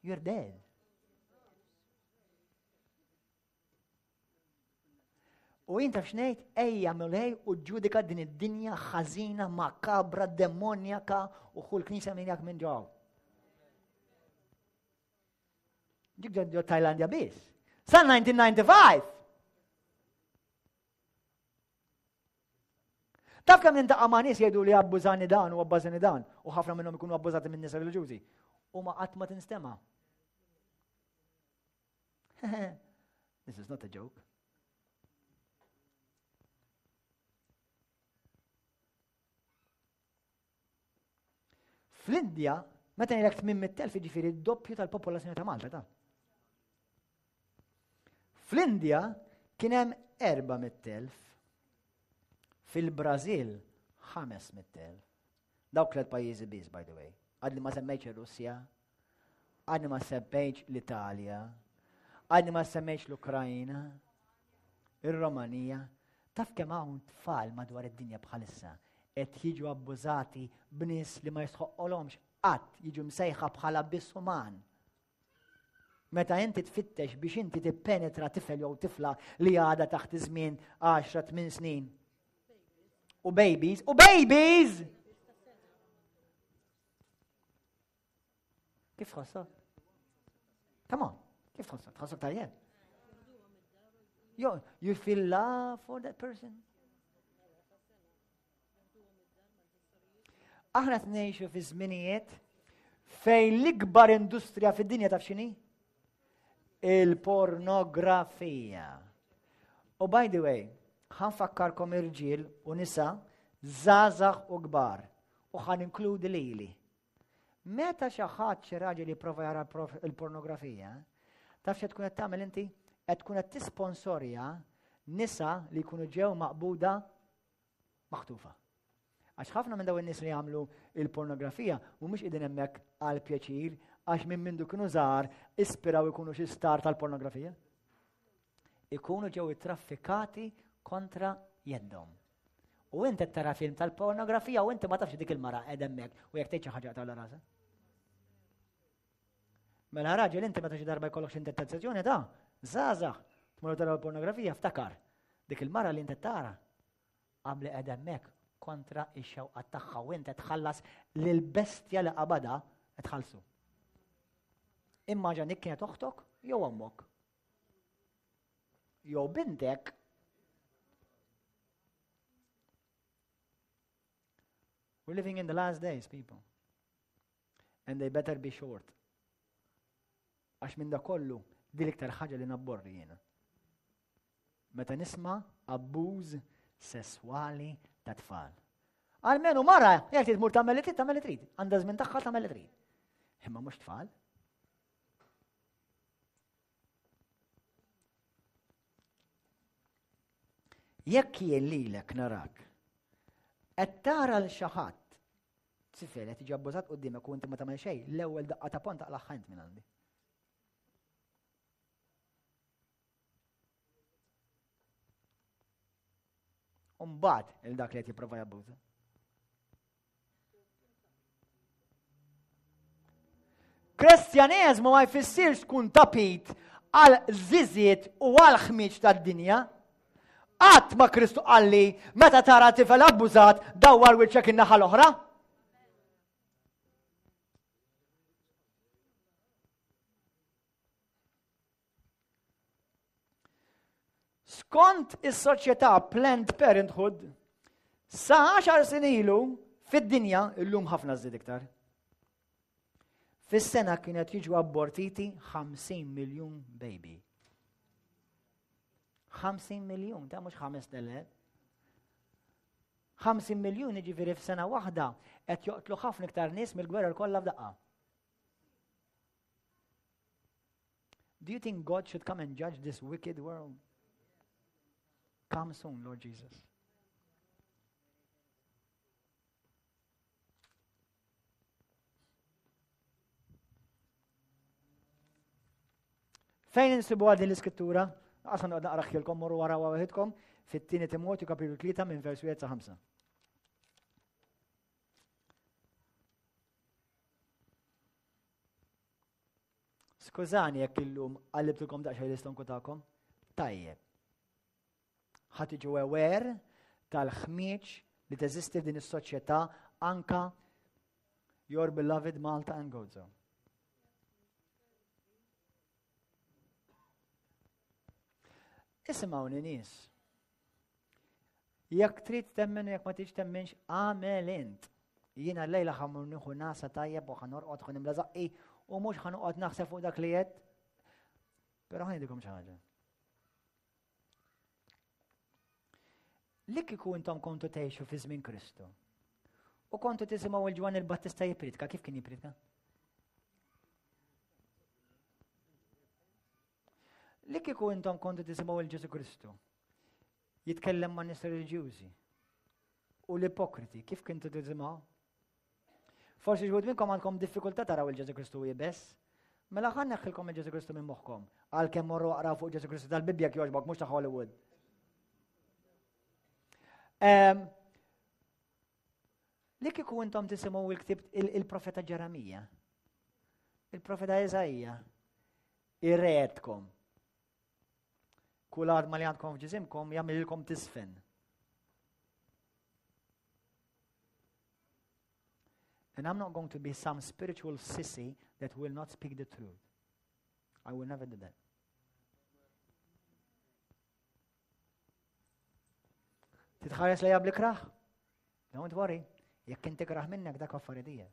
you're dead. U jien taf x'ngħid, ejja Mulej u ġudika din id-dinja ħażina, makabra, demonjaka u ħu l-knisja minn jak minn ġew. Dik ġo Tajlandja biss. Sa 1995! Taf kemm nintaqa' ma' nies jgħidu li abbużani dan u abbażani dan u ħafna minnhom ikunu abbużati minn nisa reliġjużi. U ma qatt ma tinstema'. This is not a joke. Fl-Indja, meta ngħidlek 800,000 jiġifieri d-doppju tal-popolazzjoni ta' Malta ta' Fl-Indja kien hemm 400,000. Fil-Brażil 500,000. Dawk tliet pajjiżi biss, by the way. Għadni ma semmejtx ir-Russja, Għadni ma semmejtx l-Italja, għadni ma semmejtx l-Ukrajna, ir-Romanija. Taf kemm hawn tfal madwar id-dinja bħalissa qed jiġu abbużati b'nies li ma jistħoqqolhomx qatt jiġu msejħa bħala biss uman. Meta inti tfittex biex inti tippenetra tifel jew tifla li għadha taħt iż-żmien 10-8 snin. U babies, u babies! Kif tħossok? Come on, kif tħossok? Tħossok tajjeb? You, you feel love for that person? Aħna tnejxu fi żminijiet fejn l-ikbar industrija fid-dinja taf x'inhi? Il-pornografija. U by the way, ħanfakkarkom irġiel u nisa żgħażagħ u kbar u ħan inkludi lili. Meta xi ħadd xi raġel jipprova jara l-pornografija, taf xi tkun qed tagħmel inti? Qed tkun qed tisponsorja nisa li jkunu ġew maqbuda maħtufa. Għax ħafna minn dawn in-nies li jagħmlu il-pornografija mhumiex qegħdin hemmhekk għal pjaċir għax minn mindu kienu żgħar ispiraw ikunu xi star tal-pornografija. Ikunu ġew ittraffikati kontra jeddhom. U inti qed tara film tal-pornografija u inti ma tafx dik il-mara qed hemmhekk u jekk tgħid xi ħaġa tagħla rasa. Mela raġel inti meta xi darba jkollok xi tentazzjoni ta' żgħażagħ tmur tara l-pornografija ftakar dik il-mara li inti tara għamli qed hemmhekk kontra x-xewqa tagħha u inti tħallas lil bestja li qabada tħallsu. Immaġa dik kienet oħtok jew ommok. Jew bintek. We're living in the last days, people. And they better be short. Għax minn da kollu, din l-iktar ħaġa li nabborri jiena. Meta nisma' abbuż sesswali ta' tfal. Almenu mara, jekk trid tmur tagħmel li trid, tagħmel li trid. Għandha żmien tagħha tagħmel li trid. Imma mhux tfal. Jekk jien lilek narak, qed tara l xi ħadd tifel qed jiġi abbużat quddiemek u inti ma tagħmel xejn, l-ewwel daqqa ta' pont taqlagħha int minn għandi. Umbagħad il dak li qed jipprova jabbuża. Kristjaneżmu ma jfissirx tkun tapit għal żiżiet u għal ħmiġ tad-dinja. Qatt ma Kristu qalli meta tara tifel abbużat dawwar wiċċek in-naħa l-oħra. Skont is-soċjetà Planned Parenthood, sa 10 snin ilu fid-dinja, illum ħafna żdied iktar. Fis-sena kienet jiġu abortiti 50 miljun baby. 50 miljun, ta' mhux 5,000. 50 miljun jiġifieri f'sena waħda qed joqtlu ħafna iktar nies mill-gwerra kollha f'daqqa. Do you think God should come and judge this wicked world? Come soon, Lord Jesus. Fejn insibu din l-iskrittura? Għasan għad naqraħilkom morru wara waħidkom fit-tieni Timotju kapitlu 3 minn vers 1 sa 5. Skużani jekk illum qallibtilkom daqsxejn l-istonku tagħkom. Tajjeb. Ħa tiġu aware tal-ħmieġ li teżisti f'din is-soċjetà anka your beloved Malta and Gozo. Isimgħuni nies. Jekk trid temmen u jekk ma tridx temmenx, għamel int. Jiena llejla ħa mmur nieħu nasa tajjeb u ħa norqod ħa nimla żaqqi u mhux ħa noqgħod naħseb fuq dak li għedt. Però ħa ngħidilkom xi ħaġa. Li kieku intom kontu tgħixu fi żmien Kristu u kontu tisimgħu il Ġwanni l-Battista jippritka, kif kien jippritka? Li kieku intom kontu tisimgħu il Ġesu Kristu jitkellem ma' nies reliġjużi u l-ipokriti, kif kintu tisimgħu? Forsi xi wħud minnkom għandkom diffikultà taraw il Ġesu Kristu iebes. Mela ħa neħħilkom il Ġesu Kristu minn moħħkom, għalkemm morru aqraw fuq Ġesu Kristu tal-Bibbja jogħġbok mhux ta' Hollywood. Ehm, li kieku intom tisimgħu il-ktib il-profeta Ġeremija, il-profeta Eżaija, irredkom. Kull arma li għandkom f'ġisimkom jagħmililkom tisfen. And I'm not going to be some spiritual sissy that will not speak the truth. I will never do that. Titħares lejha bl-ikrah? Don't worry. Jekk inti kraħ minnek dak affaridija.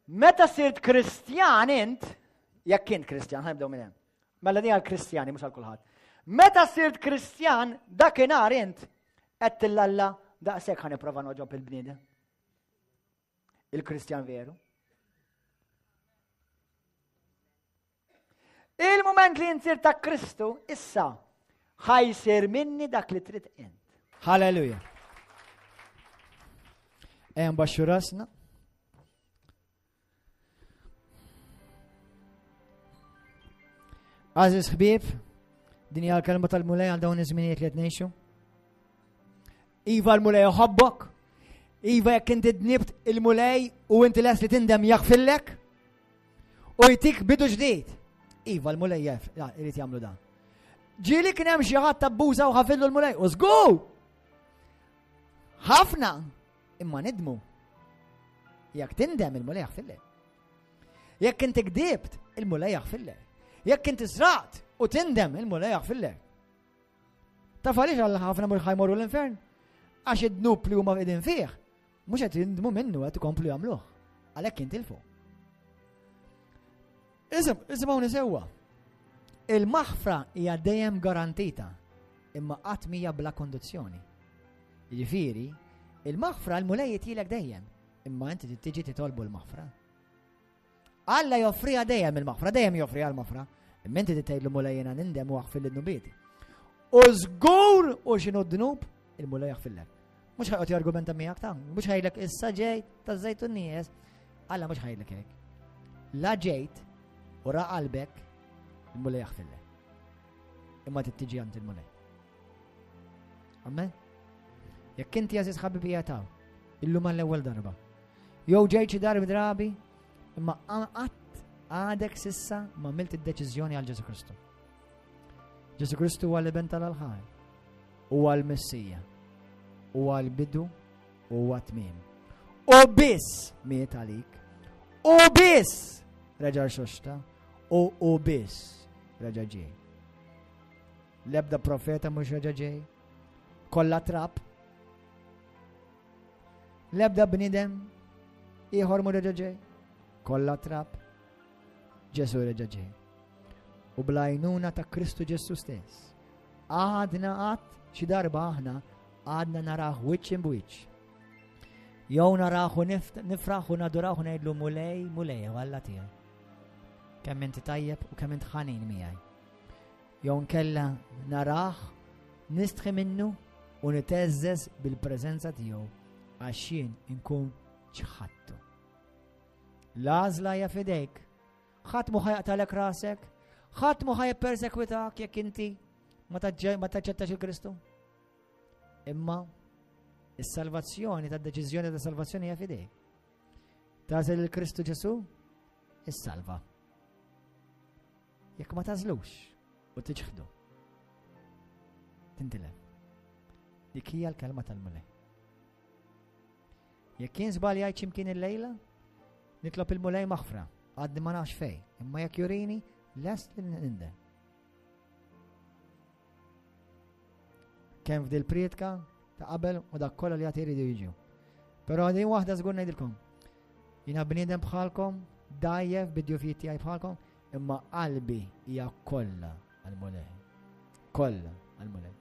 Meta sirt Kristjan int, jekk int Kristjan, ħanibdew minn hemm. Mela di għal-Kristjani mhux għal kulħadd. Meta sirt Kristjan, dakinhar int qed tillalla daqshekk ħa nipprova noġob il-bniedem. Il-Kristjan veru. Il-moment li insir ta' Kristu, issa, ħajsir minni dak li trid int. Halleluja. Ejja nbaxxu rasna. Għażiż ħbieb, din hija l-kelma tal-Mulej għal dawn iż-żminijiet li qed ngħixu. Iva l-Mulej iħobbok, iva jekk inti dnibt il-Mulej u inti les li tindem jaħfillek u jtik bidu ġdid. Iva l-Mulej jaf, irid jagħmlu dan. Ġieli kien hemm xi ħadd abbuża u ħafillu l-Mulej, u żgur! Ħafna, imma nidmu. Jekk tindem il-Mulej jaħfirlek. Jekk inti kdibt, il-Mulej jaħfirlek. Jekk inti sraqt u tindem, il-Mulej jaħfirlek. Taf għaliex għal ħafna mhux ħajmorru l-infern? Għax id-dnub li huma qegħdin fih, mhux qed jindmu minnu qed ikomplu jagħmluh. Għalhekk jintilfu. Isim, isimgħuni sewwa. Il-maħfra hija dejjem garantita, imma qatt mija bla kondizzjoni. Jiġifieri, il-maħfra l-Mulej jitjilek dejjem, imma inti tiġi titolbu l-maħfra. Alla joffriha dejjem il-maħfra, dejjem joffriha l-maħfra. Imma inti tgħidlu Mulej jiena nindem u aħfir l-dnubiet. U żgur u x'inhu d-dnub, il-Mulej jaħfirlek. Mhux ħajqgħod jargumenta miegħek ta' mhux ħajlek issa ġejt ta' żejt nies. Alla mhux ħajlek hekk. La ġejt u ra qalbek, il-Mulej jaħfirlek. Imma tittiġi għand il-Mulej. Amen? Jekk inti għażiż ħabibija taw, illum għall-ewwel darba. Jew ġejt xi darbi drabi, imma qatt għadek sissa ma għamilt id-deċiżjoni għal Ġesu Kristu. Ġesu Kristu huwa l-iben tal-ħaj, huwa l-Messija, huwa l-bidu, huwa tmiem. U biss miet għalik, u biss reġa' xoxta, u u biss reġa' ġej. L-ebda profeta mhux reġa' ġej. Kollha trab. L-ebda bniedem ieħor mhux reġa' ġej. Kollha trab. Ġesu reġa' ġej. U bl-għajnuna ta' Kristu Ġesu stess. Għadna qatt xi darba aħna għadna naraħ wiċċ imbwiċċ. Jew naraħ u nifraħ u naduraħ u ngħidlu mulej, mulej, Alla tiegħi. Kemm inti tajjeb u kemm int ħanin miegħi. Jew nkella narah, nistħi minnu u niteżżeż bil-preżenza tiegħu għax jien inkun ċħattu. L-għażla hija f'idejk. Ħadd mhu ħajaqtalek rasek, ħadd mhu ħajippersekwitak jekk inti ma taċċettax il-Kristu. Imma is-salvazzjoni tad-deċiżjoni ta' salvazzjoni hija f'idejk. Tagħżel il-Kristu Ġesu, issalva. Jekk ma tażlux u tiċħdu, tintilef. Dik hija l-kelma tal-Mulej. Jekk jien żbaljajt x'imkien illejla, nitlob il-Mulej maħfra, għadni ma nafx fej, imma jekk jurini, lest li nindem. Kemm f'dil prietka ta' qabel u dak kollha li għad iridu jiġu. Però din waħda żgur ngħidilkom. Jiena bniedem bħalkom, dajjef bid-djufijiet tiegħi bħalkom, imma qalbi hija kollha għall-Mulej. Kollha għall-Mulej.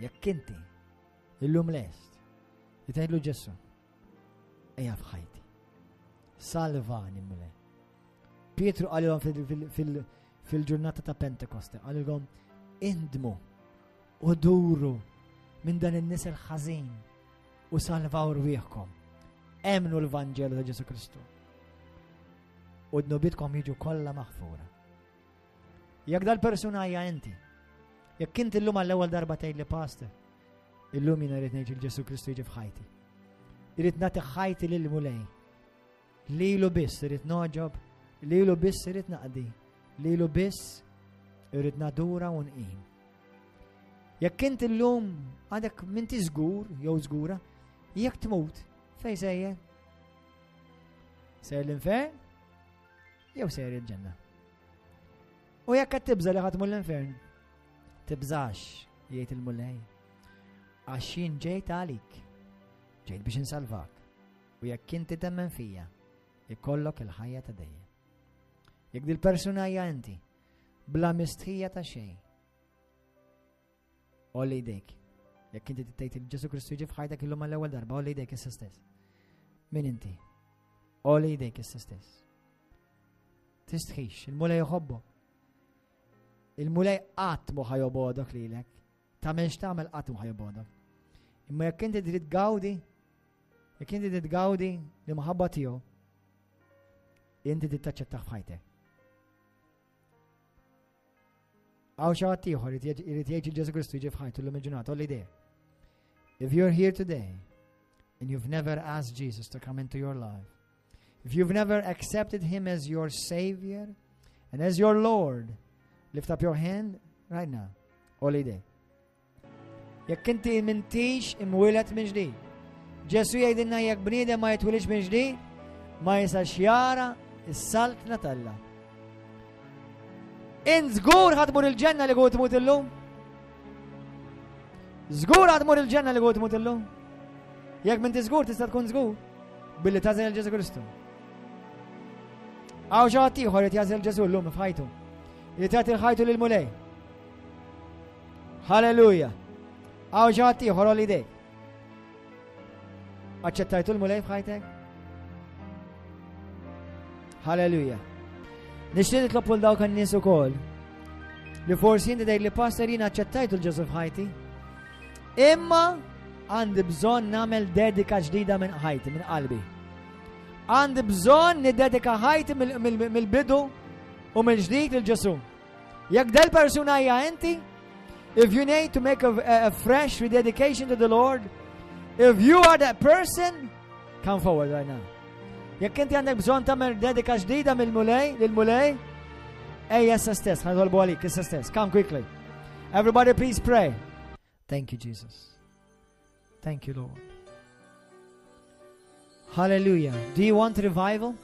Jekk inti illum lest li tgħidlu Ġesù, ejja f'ħajti. Salvani Mulej. Pietru qalilhom fil-ġurnata ta' Pentekoste, qalilhom indmu u duru minn dan in-nisel ħażin u salvaw rwieħkom. Emnu l-Vanġelu ta' Ġesu Kristu. U dnubitkom jiġu kollha maħfura. Jekk dal-persuna hija inti, jekk inti llum għall-ewwel darba tgħid li pastor, illum jiena rrid ngħid il Ġesu Kristu jiġi f'ħajti. Irrid nagħti ħajti lil Mulej. Lilu biss irrid nogħġob, lilu biss irrid naqdi, lilu biss irrid nadura u nqim. Jekk inti llum għadek minti żgur jew żgura, jekk tmut, fej sejjer? Sejjer l-infern jew sejjer il-ġenna? U jekk qed tibża li ħatmu l-infern, tibżax, jgħid il-Mulej. Għax jien ġejt għalik, ġejt biex insalvak. U jekk inti temmen fija, ikollok il-ħajja ta' dejjem. Jekk dil-persuna hija inti, bla mistħija ta' xejn. Olli jdejk. Jekk inti tgħid il Ġesu Kristu jiġi f'ħajtek illum għall-ewwel darba, olli jdejk issa stess. Min inti? Olli jdejk issa stess. Tistħix, il-Mulej jħobbok. Il-Mulej qatt mhu ħajobodok lilek. Tagħmel x'tagħmel qatt mhu ħajobodok. Imma jekk inti trid gawdi Jekk inti titgawdi l-imħabba tiegħu, inti tittaċċettah f'ħajtek. Għaw xi ħadd ieħor irid jgħid il Ġesu Kristu jiġi f'ħajtu llum il-ġurnata, l idea. If you're here today and you've never asked Jesus to come into your life, if you've never accepted him as your savior and as your Lord, lift up your hand right now. All idea. Jekk inti m'intix imwieled minn ġdid, Ġesu jgħidilna jekk bniedem ma jitwilix minn ġdid, ma jistax jara s-saltna t'Alla. Int żgur ħa tmur il-ġenna li tmut illum? Żgur ħa tmur il-ġenna li tmut illum? Jekk m'inti żgur tista' tkun żgur billi tagħżel il Ġesu Kristu. Hawn xi ħadd ieħor qed jagħżel Ġesu llum f'ħajtu. Li tagħti ħajtu lil Mulej. Halleluja. Hawn xi ħadd ieħor għolli idejk. Aċċettajtu l-Mulej f'ħajtek? Halleluja. Nixtieq nitlob lil dawk in-nies ukoll li forsi inti tgħid li pastor jien aċċettajtu l-Ġesu f'ħajti. Imma għandi bżonn nagħmel dedika ġdida minn ħajti, minn qalbi. Għandi bżonn niddedika ħajti mill-bidu u mill-ġdid lil Ġesu. Jekk del persuna hija inti, if you need to make a, a, a fresh rededication to the Lord, if you are that person, come forward right now. Jekk inti għandek bżonn tagħmel dedika ġdida mill-Mulej, lill-Mulej, ejja issa stess, ħa nitolbu għalik issa stess. Come quickly. Everybody please pray. Thank you Jesus. Thank you Lord. Hallelujah. Do you want revival?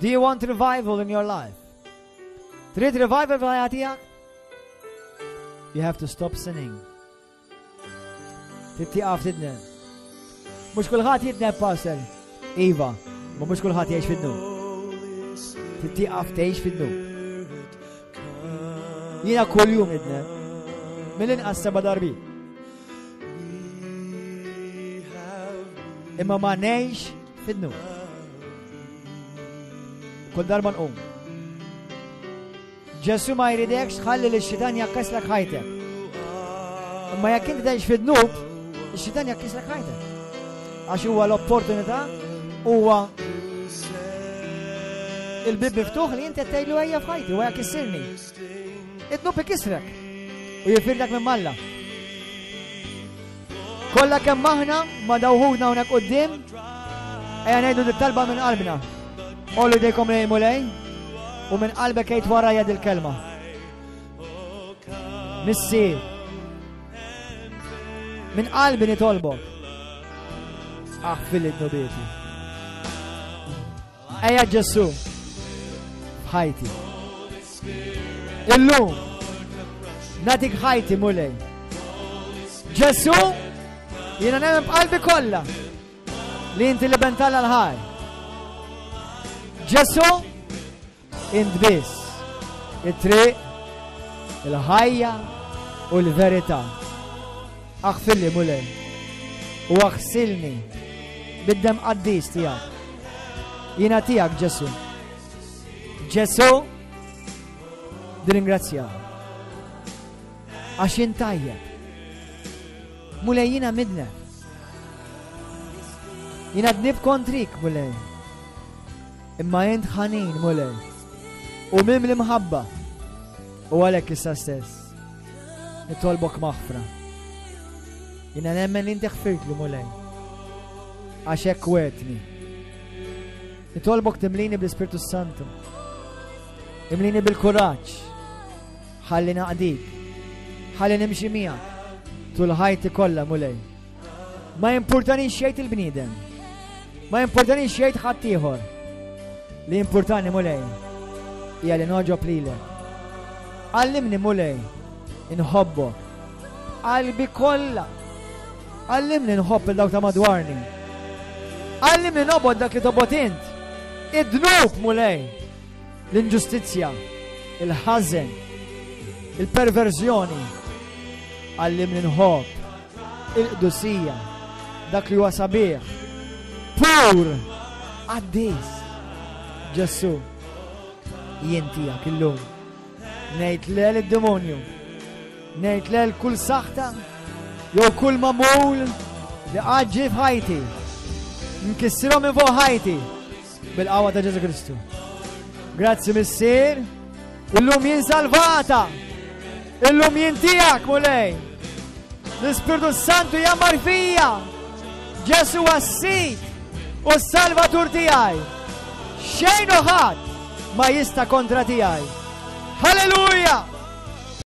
Do you want revival in your life? Trid revival fil-ħajja tiegħek? You have to stop sinning. Trid tieqaf tidneb. Mhux kulħadd jidneb pastor. Iva, ma mhux kulħadd jgħix fid-dnub. Trid tieqaf tgħix fid-dnub. Jiena kuljum nidneb. Mill-inqas seba' darbi. Imma ma ngħix fid-dnub. Kull darba nqum. Ġesu ma jridekx tħalli li xitan jakkaslek ħajtek. Imma jekk inti tgħix fid-dnub, ix-xitan jakkislek ħajtek. Għax huwa l-opportunità huwa il-bib miftuħ li inti tgħidlu ejja f'ħajti u jekk issirni. Id-dnub ikisrek u jifirlek minn malla. Kollha kemm aħna ma dawħudna hawnhekk quddiem, ejja ngħidu dit-talba minn qalbna. Għollu jdejkom lejn Mulej u minn qalbek għid warajja dil-kelma. Missier, minn qalbi nitolbok. Aħfirli dnubieti. Ejja Ġesu, f'ħajti. Illum, nagħtik ħajti Mulej. Ġesu, jiena nemmen b'qalbi kollha li inti l-Iben t'Alla l-ħaj. Ġesu, int biss it-triq, il-ħajja u l-verità. Aħfirli Mulej u aħsilni bid-demm qaddis tiegħek. Jiena tiegħek Ġesu. Ġesu, nirringrazzjak. Għax int tajjeb. Mulej jiena midneb. Jiena dnibt kontrik, Mulej. Imma int ħanin, Mulej. U mimli mħabba. U għalhekk issa stess. Nitolbok maħfra. Jiena nemmen li inti ħfirtli, Mulej. Għax hekk wegħedtni. Nitolbok timlini bl-Ispirtu Santu. Imlini bil-kuraġġ. Ħalli naqdik. Ħalli nimxi miegħek. Tul ħajti kollha, Mulej. Ma jimpurtanix xejn il-bniedem. Ma jimpurtanix xejn ħaddieħor. Li jimpurtani Mulej hija li nogħġob lilek. Għallimni Mulej inħobbok. Qalbi kollha. Għallimni nħobb il dawk ta' madwarni. Għallimni nobgħod dak li tobgħod int. Id-dnub Mulej. L-inġustizzja, il-ħażen, il-perverżjoni. Għallimni nħobb il-qdusija, dak li huwa sabiħ, pur, qaddis. Ġesù, jien tiegħek illum. Ngħid le lid-demonju. Ngħid le kull saħta jew kull magħmul li qatt ġie f'ħajti. Nkissirhom minn fuq ħajti bil-qawwa ta' Ġesù Kristu. Grazzi Missier, illum jien salvata. Illum jien tiegħek, Mulej. L-Ispirtu Santu jgħammar fija. Ġesù għas-Sid u s-Salvatur tiegħi. Xejn u ħadd ma jista' kontra tiegħi. Halleluja!